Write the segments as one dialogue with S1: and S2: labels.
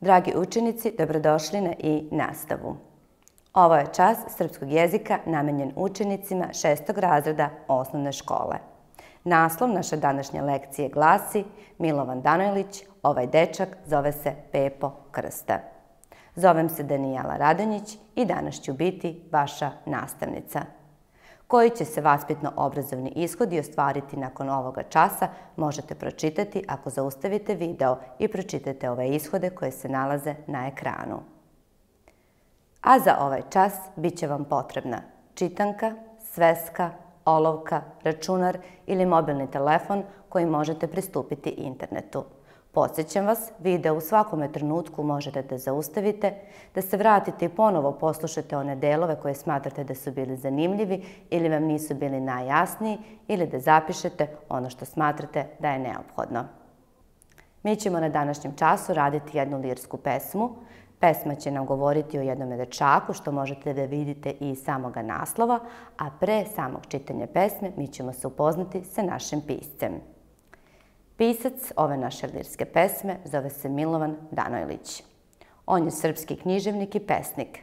S1: Dragi učenici, dobrodošli na nastavu. Ovo je čas srpskog jezika namenjen učenicima 6. razreda osnovne škole. Naslov naše današnje lekcije glasi Milovan Danojlić, ovaj dečak zove se Pepo Krsta. Zovem se Danijela Radonjić i danas ću biti vaša nastavnica. Koji će se vaspitno-obrazovni ishodi ostvariti nakon ovoga časa možete pročitati ako zaustavite video i pročitate ove ishode koje se nalaze na ekranu. A za ovaj čas bit će vam potrebna čitanka, sveska, olovka, računar ili mobilni telefon kojim možete pristupiti internetu. Podsjećam vas, video u svakome trenutku možete da zaustavite, da se vratite i ponovo poslušate one delove koje smatrate da su bili zanimljivi ili vam nisu bili najjasniji ili da zapišete ono što smatrate da je neophodno. Mi ćemo na današnjem času raditi jednu lirsku pesmu. Pesma će nam govoriti o jednom dečaku, što možete da vidite i iz samoga naslova, a pre samog čitanja pesme mi ćemo se upoznati sa našim piscem. Pisac ove naše lirske pesme zove se Milovan Danojlić. On je srpski književnik i pesnik.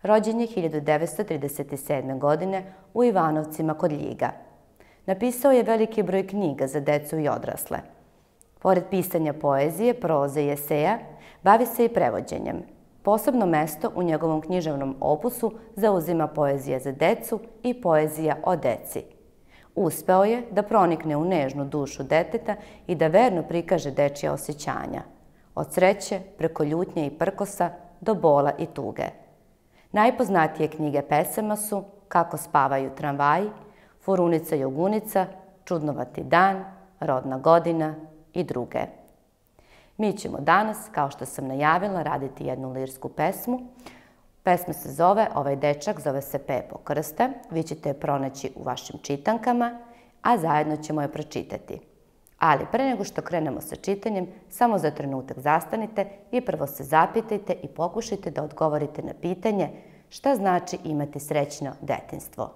S1: Rođen je 1937. godine u Ivanovcima kod Ljiga. Napisao je veliki broj knjiga za decu i odrasle. Pored pisanja poezije, proze i eseja, bavi se i prevođenjem. Posebno mesto u njegovom književnom opusu zauzima poezija za decu i poezija o deci. Uspeo je da pronikne u nežnu dušu deteta i da verno prikaže dečija osjećanja. Od sreće, preko ljutnje i prkosa, do bola i tuge. Najpoznatije knjige pesama su Kako spavaju tramvaji, Furunica Jogunica, Čudnovati dan, Rodna godina i druge. Mi ćemo danas, kao što sam najavila, raditi jednu lirsku pesmu. Pesma se zove, ovaj dečak zove se Pepo Krsta. Vi ćete je pronaći u vašim čitankama, a zajedno ćemo je pročitati. Ali pre nego što krenemo sa čitanjem, samo za trenutak zastanite i prvo se zapitajte i pokušajte da odgovorite na pitanje šta znači imati srećno detinjstvo.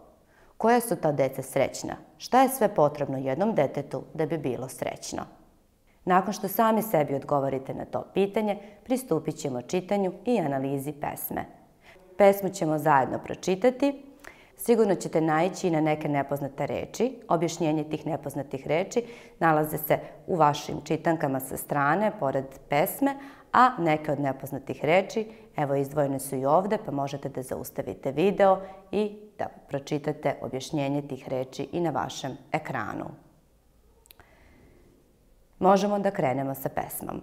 S1: Koja su ta deca srećna? Šta je sve potrebno jednom detetu da bi bilo srećno? Nakon što sami sebi odgovorite na to pitanje, pristupit ćemo čitanju i analizi pesme. Pesmu ćemo zajedno pročitati. Sigurno ćete naići i na neke nepoznate reči. Objašnjenje tih nepoznatih reči nalaze se u vašim čitankama sa strane, pored pesme, a neke od nepoznatih reči, evo izdvojene su i ovde, pa možete da zaustavite video i da pročitate objašnjenje tih reči i na vašem ekranu. Možemo da krenemo sa pesmom.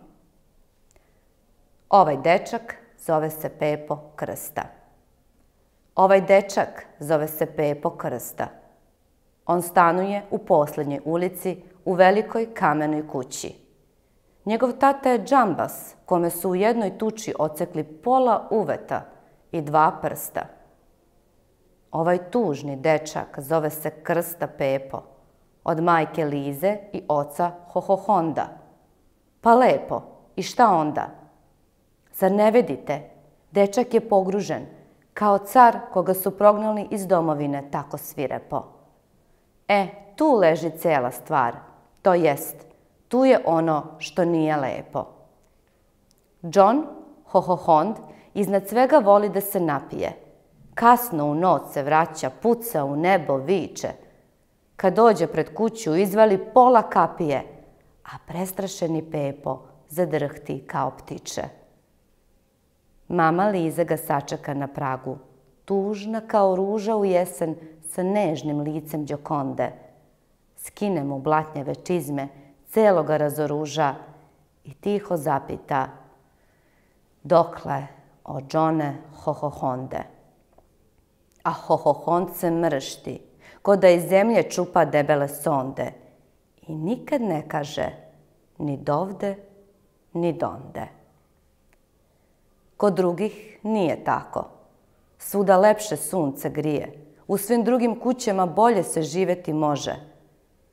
S1: Ovaj dečak zove se Pepo Krsta. Ovaj dečak zove se Pepo Krsta. On stanuje u poslednjoj ulici u velikoj kamenoj kući. Njegov tata je džambas kome su u jednoj tuči ocekli pola uveta i 2 prsta. Ovaj tužni dečak zove se Krsta Pepo, od majke Lize i oca Hohohonda. Pa lepo, i šta onda? Zar ne vidite? Dečak je pogružen, kao car koga su prognali iz domovine tako svirepo. Tu leži cela stvar, to jest, tu je ono što nije lepo. John Hohohond iznad svega voli da se napije. Kasno u noć se vraća, puca u nebo, viče. Kad dođe pred kuću, izvali pola kapije, a prestrašeni Pepo zadrhti kao ptiče. Mama Liza ga sačeka na pragu, tužna kao ruža u jesen sa nežnim licem Đokonde. Skine mu blatnjave čizme, celo ga razoruža i tiho zapita: dokle, o Johne Hohohonde? A Hohohond se mršti, ko da iz zemlje čupa debele sonde i nikad ne kaže ni dovde, ni donde. Kod drugih nije tako. Svuda lepše sunce grije, u svim drugim kućama bolje se živeti može.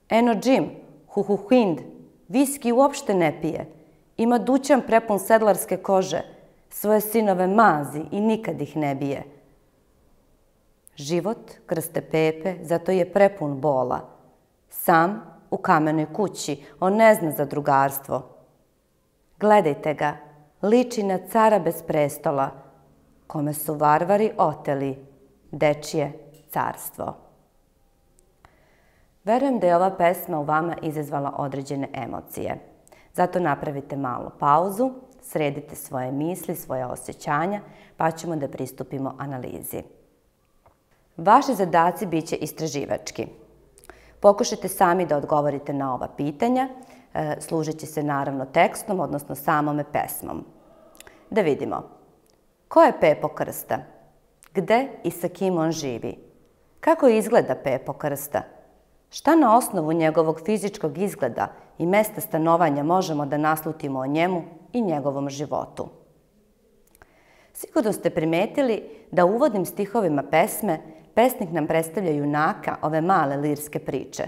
S1: Eno Jim, Huhuhind, viski uopšte ne pije, ima dućan prepun sedlarske kože, svoje sinove mazi i nikad ih ne bije. Život Krste Pepe zato je prepun bola. Sam u kamenoj kući, on ne zna za drugarstvo. Gledajte ga, liči na cara bez prestola, kome su varvari oteli dečije carstvo. Verujem da je ova pesma u vama izazvala određene emocije. Zato napravite malu pauzu, sredite svoje misli, svoje osjećanja, pa ćemo da pristupimo analizi. Vaši zadaci bit će istraživački. Pokušajte sami da odgovorite na ova pitanja, služeći se naravno tekstom, odnosno samome pesmom. Da vidimo. Ko je Pepo Krsta? Gde i sa kim on živi? Kako izgleda Pepo Krsta? Šta na osnovu njegovog fizičkog izgleda i mesta stanovanja možemo da naslutimo o njemu i njegovom životu? Sigurno ste primetili da u uvodnim stihovima pesme pesnik nam predstavlja junaka ove male lirske priče.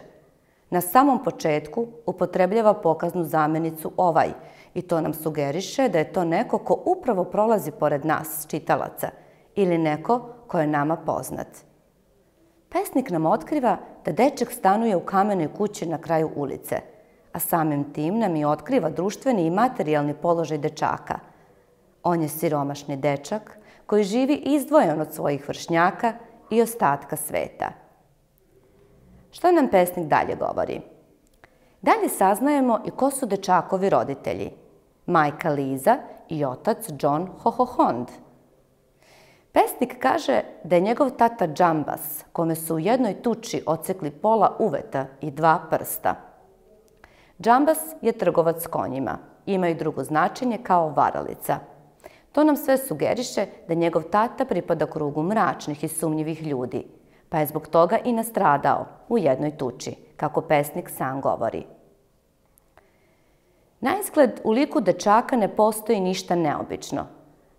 S1: Na samom početku upotrebljava pokaznu zamenicu ovaj i to nam sugeriše da je to neko ko upravo prolazi pored nas, čitalaca, ili neko ko je nama poznat. Pesnik nam otkriva da dečak stanuje u kamenoj kući na kraju ulice, a samim tim nam i otkriva društveni i materijalni položaj dečaka. On je siromašni dečak koji živi izdvojen od svojih vršnjaka i ostatka sveta. Što nam pesnik dalje govori? Dalje saznajemo i ko su dečakovi roditelji, majka Liza i otac John Hohohond. Pesnik kaže da je njegov tata Džambas, kome su u jednoj tuči odsekli pola uveta i 2 prsta. Džambas je trgovac konjima, ima i drugo značenje kao varalica. To nam sve sugeriše da njegov tata pripada krugu mračnih i sumnjivih ljudi, pa je zbog toga i nastradao u jednoj tuči, kako pesnik sam govori. Naizgled, u liku dečaka ne postoji ništa neobično.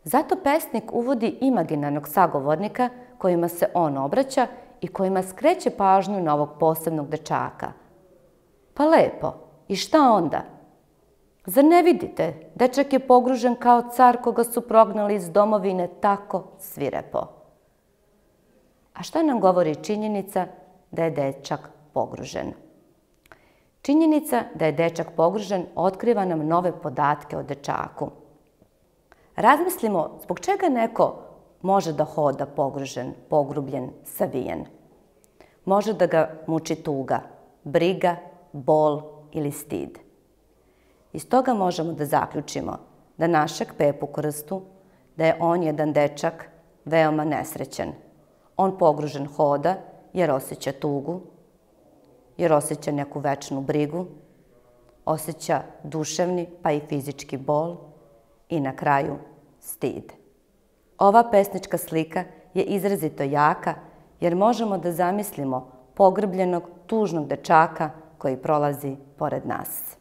S1: Zato pesnik uvodi imaginarnog sagovornika kojima se on obraća i kojima skreće pažnju na ovog posebnog dečaka. Pa lepo, i šta onda? Zar ne vidite, dečak je pogružen kao car koga su prognali iz domovine tako svirepo. A šta nam govori činjenica da je dečak pogružen? Činjenica da je dečak pogružen otkriva nam nove podatke o dečaku. Razmislimo zbog čega neko može da hoda pogružen, pogrubljen, savijen. Može da ga muči tuga, briga, bol ili stid. Iz toga možemo da zaključimo da našeg Pepu Krstu, da je on jedan dečak veoma nesrećan. On pogružen hoda jer osjeća tugu, jer osjeća neku večnu brigu, osjeća duševni pa i fizički bol i na kraju stid. Ova pesnička slika je izrazito jaka jer možemo da zamislimo pogrbljenog, tužnog dečaka koji prolazi pored nas.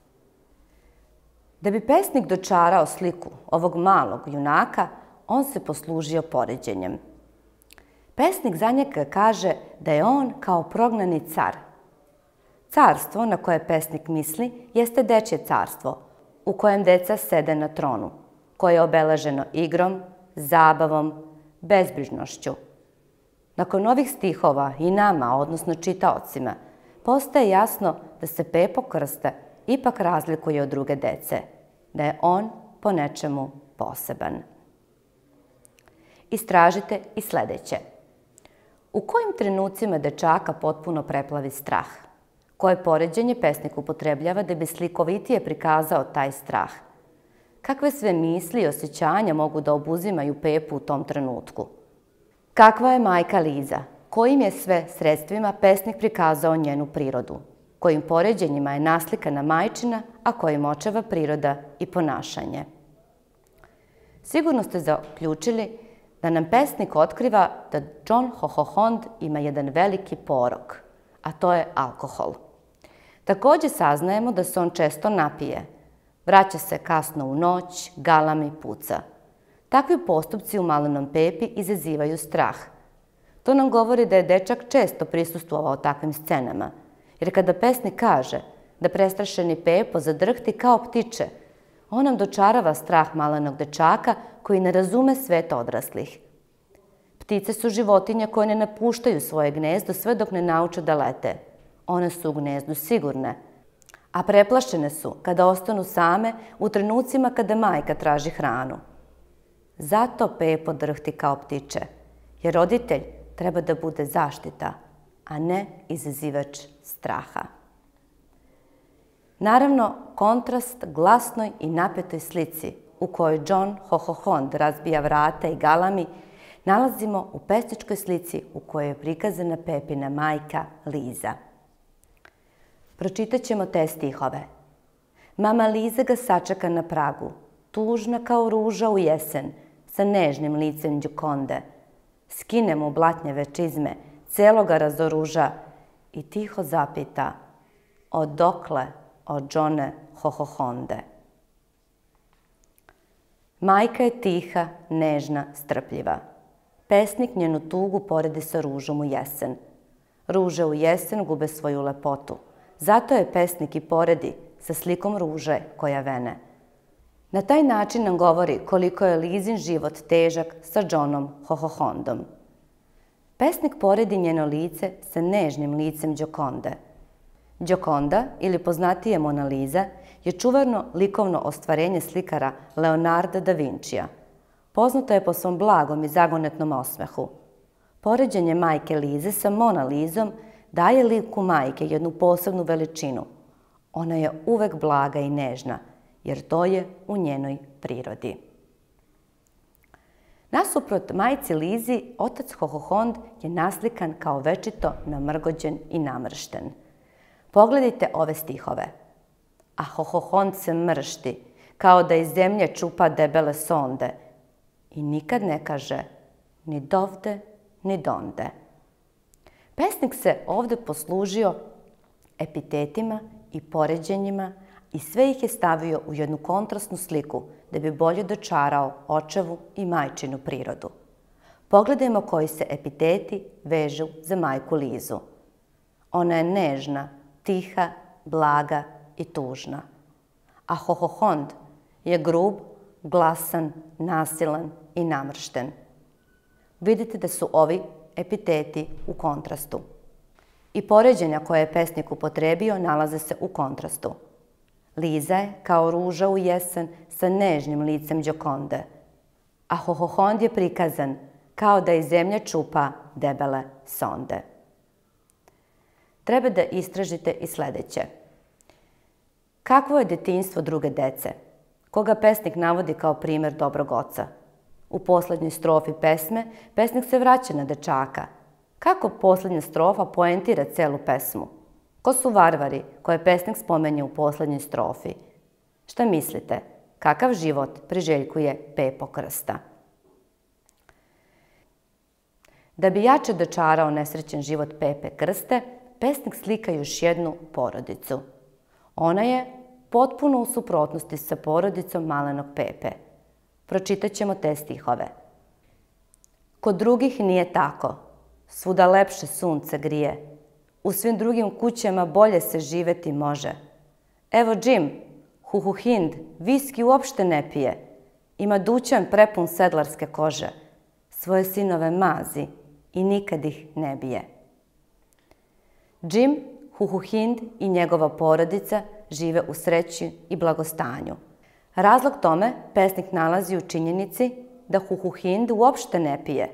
S1: Da bi pesnik dočarao sliku ovog malog junaka, on se poslužio poređenjem. Pesnik za njega kaže da je on kao prognani car. Carstvo na koje pesnik misli jeste dečje carstvo, u kojem deca sede na tronu, koje je obeleženo igrom, zabavom, bezbrižnošću. Nakon ovih stihova i nama, odnosno čitaocima, postaje jasno da se Pepo Krsta ipak razlikuje od druge dece, da je on po nečemu poseban. Istražite i sledeće. U kojim trenucima dečaka potpuno preplavi strah? Koje poređenje pesnik upotrebljava da bi slikovitije prikazao taj strah? Kakve sve misli i osjećanja mogu da obuzimaju Pepu u tom trenutku? Kakva je majka Liza? Kojim je sve sredstvima pesnik prikazao njenu prirodu? Kojim poređenjima je naslikana majčina, a kojim očeva priroda i ponašanje? Sigurno ste zaključili da nam pesnik otkriva da John Hohohond ima jedan veliki porok, a to je alkohol. Takođe saznajemo da se on često napije. Vraća se kasno u noć, galami, puca. Takvi postupci u malenom Pepi izazivaju strah. To nam govori da je dečak često prisustvovao takvim scenama, jer kada pesnik kaže da prestrašeni Pepo zadrhti kao ptiče, on nam dočarava strah malenog dečaka koji ne razume svet odraslih. Ptice su životinje koje ne napuštaju svoje gnezdo sve dok ne nauče da lete. One su u gnezdu sigurne, a preplašene su kada ostanu same u trenucima kada majka traži hranu. Zato Pepo drhti kao ptiče, jer roditelj treba da bude zaštita, a ne izazivač straha. Naravno, kontrast glasnoj i napetoj slici u kojoj John Hohohond razbija vrata i galami nalazimo u pesničkoj slici u kojoj je prikazana Pepina majka Liza. Pročitat ćemo te stihove. Mama Liza ga sačeka na pragu, tužna kao ruža u jesen, sa nežnim licem Đokonde. Skine mu blatnjeve čizme, celo ga razoruža i tiho zapita: odokle, o Johne Hohohonde? Majka je tiha, nežna, strpljiva. Pesnik njenu tugu poredi sa ružom u jesen. Ruže u jesen gube svoju lepotu. Zato je pesnik i poredi sa slikom ruže koja vene. Na taj način nam govori koliko je Lizin život težak sa Johnom Hohohondom. Pesnik poredi njeno lice sa nežnim licem Đokonde. Đokonda, ili poznatije Mona Lisa, je čuveno likovno ostvarenje slikara Leonarda da Vincija. Poznata je po svom blagom i zagonetnom osmehu. Poređenje majke Lize sa Mona Lisom daje liku majke jednu posebnu veličinu. Ona je uvek blaga i nežna, jer to je u njenoj prirodi. Nasuprot majci Lizi, otac Hohohond je naslikan kao večito namrgođen i namršten. Pogledajte ove stihove. A Hohohond se mršti, kao da iz zemlje čupa debele sonde i nikad ne kaže ni dovde, ni donde. Pesnik se ovde poslužio epitetima i poređenjima i sve ih je stavio u jednu kontrastnu sliku da bi bolje dočarao očevu i majčinu prirodu. Pogledajmo koji se epiteti vežu za majku Lizu. Ona je nežna, tiha, blaga i tužna. A Hohohond je grub, glasan, nasilan i namršten. Vidite da su ovi epiteti u kontrastu. I poređenja koje je pesnik upotrebio nalaze se u kontrastu. Liza je kao ruža u jesen sa nežnim licem Đokonde, a Hohohond je prikazan kao da iz zemlje čupa debele sonde. Treba da istražite i sledeće. Kakvo je detinjstvo druge dece? Koga pesnik navodi kao primer dobrog oca? U poslednjoj strofi pesme pesnik se vraća na dečaka. Kako poslednja strofa poentira celu pesmu? Ko su varvari koje pesnik spomenje u poslednjoj strofi? Šta mislite? Kakav život priželjkuje Pepo Krsta? Da bi jače dočarao nesrećen život Pepe Krste, pesnik slika još jednu porodicu. Ona je potpuno u suprotnosti sa porodicom malenog Pepe. Pročitat ćemo te stihove. Kod drugih nije tako. Svuda lepše sunce grije. U svim drugim kućama bolje se živeti može. Evo Jim, Huhuhind, viski uopšte ne pije. Ima dućan prepun sedlarske kože. Svoje sinove mazi i nikad ih ne bije. Jim, Huhuhind i njegova porodica žive u sreći i blagostanju. Razlog tome pesnik nalazi u činjenici da Huhuhind uopšte ne pije.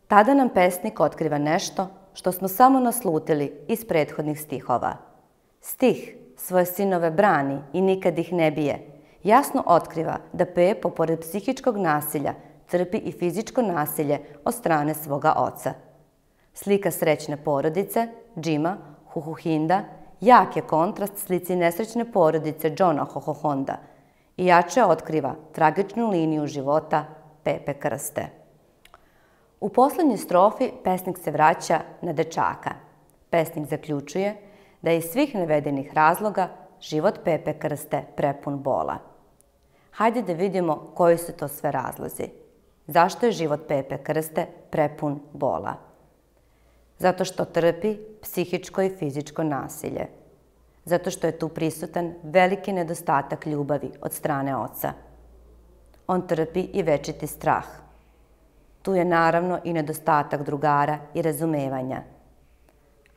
S1: Tada nam pesnik otkriva nešto što smo samo naslutili iz prethodnih stihova. Stih svoje sinove brani i nikad ih ne bije jasno otkriva da Pepo, pored psihičkog nasilja, trpi i fizičko nasilje od strane svoga oca. Slika srećne porodice, Jima, Huhuhinda, jak je kontrast slici nesrećne porodice Johna Hohohonda i jače otkriva tragičnu liniju života Pepe Krste. U poslednjoj strofi pesnik se vraća na dečaka. Pesnik zaključuje da je iz svih navedenih razloga život Pepe Krste prepun bola. Hajde da vidimo koji su to sve razlozi. Zašto je život Pepe Krste prepun bola? Zato što trpi psihičko i fizičko nasilje. Zato što je tu prisutan veliki nedostatak ljubavi od strane oca. On trpi i večiti strah. Tu je naravno i nedostatak drugara i razumevanja.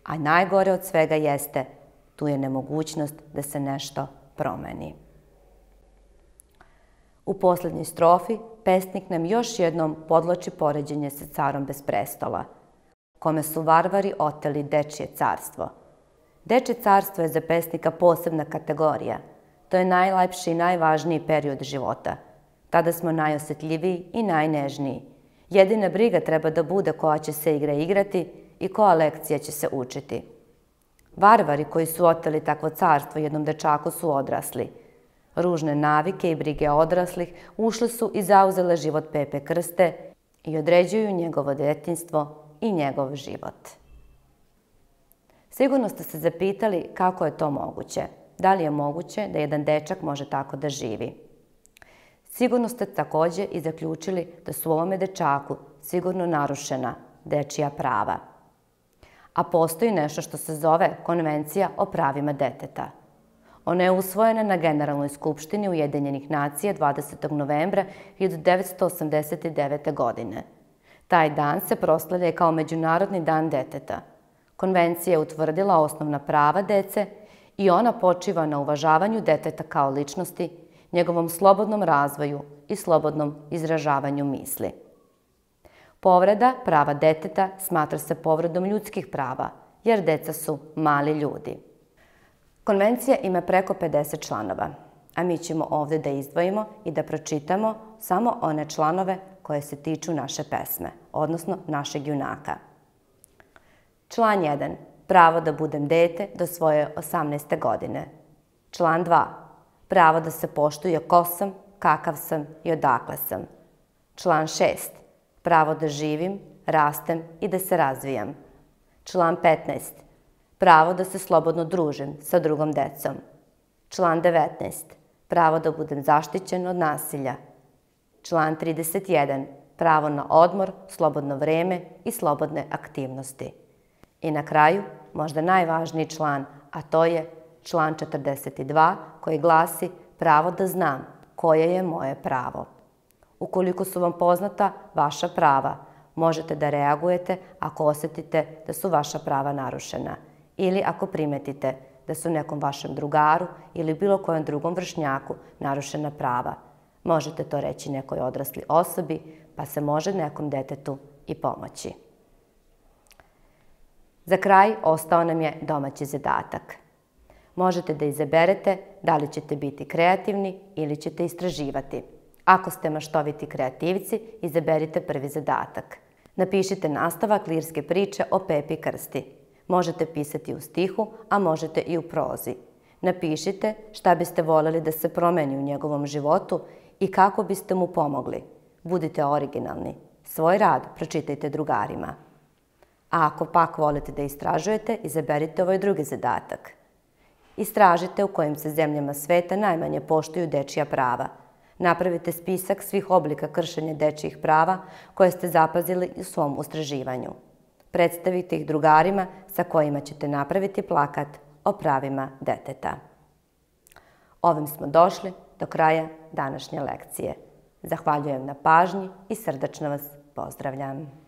S1: A najgore od svega jeste Tu je nemogućnost da se nešto promeni. U posljednjoj strofi pesnik nam još jednom podvlači poređenje sa carom bez prestola, kome su varvari oteli dečije carstvo. Dečje carstvo je za pesnika posebna kategorija. To je najlepši i najvažniji period života. Tada smo najosjetljiviji i najnežniji. Jedina briga treba da bude koja će se igra igrati i koja lekcija će se učiti. Varvari koji su oteli takvo carstvo jednom dečaku su odrasli. Ružne navike i brige odraslih ušle su i zauzele život Pepe Krste i određuju njegovo detinjstvo i njegov život. Sigurno ste se zapitali kako je to moguće. Da li je moguće da jedan dečak može tako da živi? Sigurno ste također i zaključili da su u ovome dečaku sigurno narušena dečija prava. A postoji nešto što se zove Konvencija o pravima deteta. Ona je usvojena na Generalnoj skupštini Ujedinjenih nacija 20. novembra 1989. godine. Taj dan se proslavlja kao Međunarodni dan deteta. Konvencija je utvrdila osnovna prava dece i ona počiva na uvažavanju deteta kao ličnosti, njegovom slobodnom razvoju i slobodnom izražavanju misli. Povreda prava deteta smatra se povredom ljudskih prava, jer deca su mali ljudi. Konvencija ima preko 50 članova, a mi ćemo ovdje da izdvojimo i da pročitamo samo one članove koje se tiču naše pesme, odnosno našeg junaka. Član 1. Pravo da budem dete do svoje 18. godine. Član 2. Pravo da se poštuje ko sam, kakav sam i odakle sam. Član 6. Pravo da živim, rastem i da se razvijam. Član 15. Pravo da se slobodno družim sa drugom decom. Član 19. Pravo da budem zaštićen od nasilja. Član 31. Pravo na odmor, slobodno vreme i slobodne aktivnosti. I na kraju, možda najvažniji član, a to je član 42 koji glasi pravo da znam koje je moje pravo. Ukoliko su vam poznata vaša prava, možete da reagujete ako osjetite da su vaša prava narušena ili ako primetite da su nekom vašem drugaru ili bilo kojem drugom vršnjaku narušena prava. Možete to reći nekoj odrasli osobi, pa se može nekom detetu i pomoći. Za kraj ostao nam je domaći zadatak. Možete da izaberete da li ćete biti kreativni ili ćete istraživati. Ako ste maštoviti kreativci, izaberite prvi zadatak. Napišite nastavak lirske priče o Pepi Krsti. Možete pisati u stihu, a možete i u prozi. Napišite šta biste voljeli da se promeni u njegovom životu i kako biste mu pomogli. Budite originalni. Svoj rad pročitajte drugarima. A ako pak volite da istražujete, izaberite ovaj drugi zadatak. Istražite u kojim se zemljama sveta najmanje poštuju dečija prava. Napravite spisak svih oblika kršenja dečijih prava koje ste zapazili u svom istraživanju. Predstavite ih drugarima sa kojima ćete napraviti plakat o pravima deteta. Ovim smo došli do kraja današnje lekcije. Zahvaljujem na pažnji i srdačno vas pozdravljam.